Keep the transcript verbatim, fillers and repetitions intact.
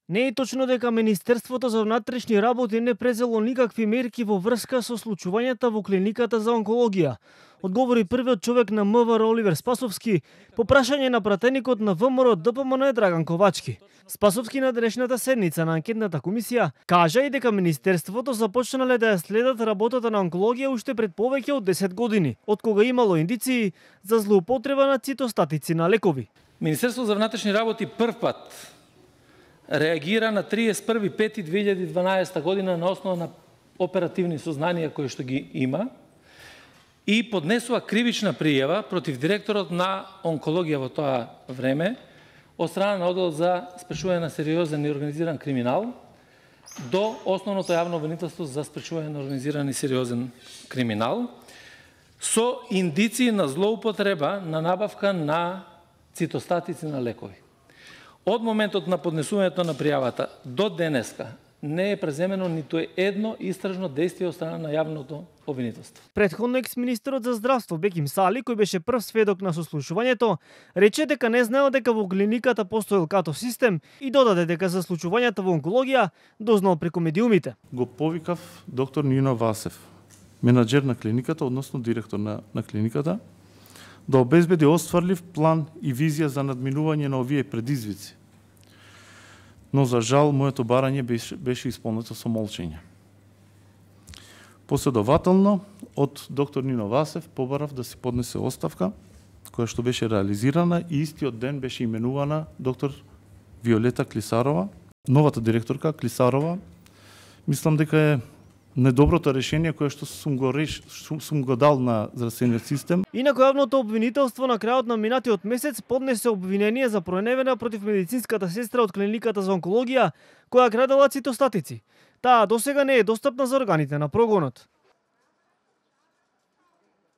Не е точно дека Министерството за внатрешни работи не презело никакви мерки во врска со случувањата во клиниката за онкологија, одговори првиот човек на МВР Оливер Спасовски по прашање на пратеникот на ВМРО Д П М Н Драган Ковачки. Спасовски на денешната седница на анкетната комисија кажа и дека Министерството започнале да ја следат работата на онкологија уште пред повеќе од десет години, од кога имало индиции за злоупотреба на цитостатици на лекови. Министерството за внатрешни работи прв пат реагира на триесет и први пети две илјади и дванаесета година на основа на оперативни сознанија кои што ги има и поднесува кривична пријава против директорот на онкологија во тоа време од страна на оддел за спречување на сериозен и организиран криминал до основното јавно обвинителство за спречување на организиран и сериозен криминал со индиции на злоупотреба на набавка на цитостатици на лекови. Од моментот на поднесувањето на пријавата до денеска не е преземено ниту едно истражно действие од страна на јавното обвинителство. Претходно екс-министерот за здравство Беким Сали, кој беше прв сведок на сослушувањето, рече дека не знаел дека во клиниката постоел катов систем и додаде дека за случувањата во онкологија дознал преку медиумите. Го повикав доктор Нино Васев, менаџер на клиниката, односно директор на, на клиниката, да обезбеди остварлив план и визија за надминување на овие предизвици. Но за жал, моето барање беше, беше исполнето со молчење. Последователно, од доктор Нино Васев побарав да се поднесе оставка, која што беше реализирана и истиот ден беше именувана доктор Виолета Клисарова. Новата директорка Клисарова, мислам дека е недоброто решение кое што сум го реш, сум го дал на здравствениот систем. Инаку јавното обвинителство на крајот на минатиот месец поднесе обвинение за проневера против медицинската сестра од клиниката за онкологија која крадела цитостатици. Таа досега не е достапна за органите на прогонот.